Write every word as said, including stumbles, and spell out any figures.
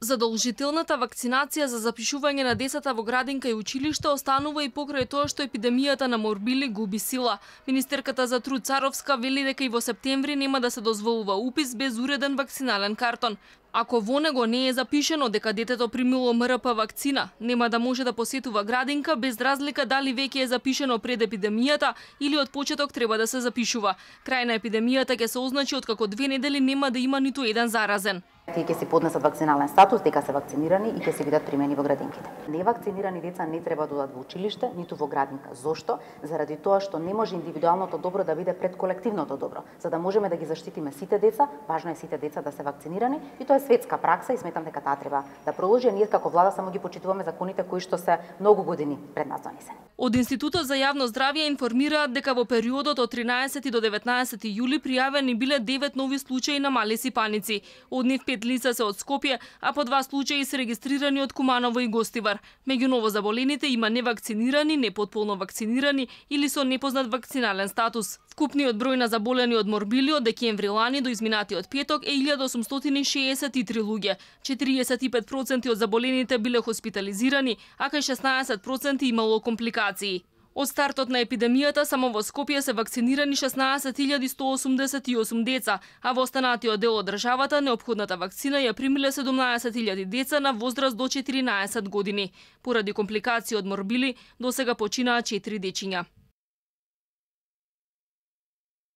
Задолжителната вакцинација за запишување на децата во градинка и училиште останува и покрај тоа што епидемијата на морбили губи сила. Министерката за труд Царовска вели дека и во септември нема да се дозволува упис без уреден вакцинален картон. Ако во него не е запишено дека детето примило М Р П вакцина, нема да може да посетува градинка без разлика дали веќе е запишено пред епидемијата или од почеток треба да се запишува. Крај на епидемијата ќе се означи откако две недели нема да има ниту еден заразен. Тие ќе си поднесат вакцинален статус дека се вакцинирани и ќе се бидат примени во градинките. Невакцинирани деца не треба да одат во училиште, ниту во градинка. Зошто? Заради тоа што не може индивидуалното добро да биде пред колективното добро. За да можеме да ги заштитиме сите деца, важно е сите деца да се вакцинирани и тоа е светска пракса и сметам дека таа треба да продолжи. Ние како влада само ги почитуваме законите кои што се многу години пред нас донесени. Од Институтот за јавно здравје информираат дека во периодот од тринаесети до деветнаесети јули пријавени биле девет нови случаи на мали сипаници. Од нив пет лица се од Скопје, а по два случаи се регистрирани од Куманово и Гостивар. Меѓу новозаболените има невакцинирани, непотполно вакцинирани или со непознат вакцинален статус. Вкупниот број на заболени од морбили од декември лани до изминатиот петок е илјада осумстотини шеесет и три луѓе. четириесет и пет проценти од заболените биле хоспитализирани, а кај шеснаесет проценти имало компликации. Од стартот на епидемијата само во Скопје се вакцинирани шеснаесет илјади сто осумдесет и осум деца, а во останатиот дел од државата неопходната вакцина ја примиле седумнаесет илјади деца на возраст до четиринаесет години. Поради компликации од морбили, досега починаа четири дечиња.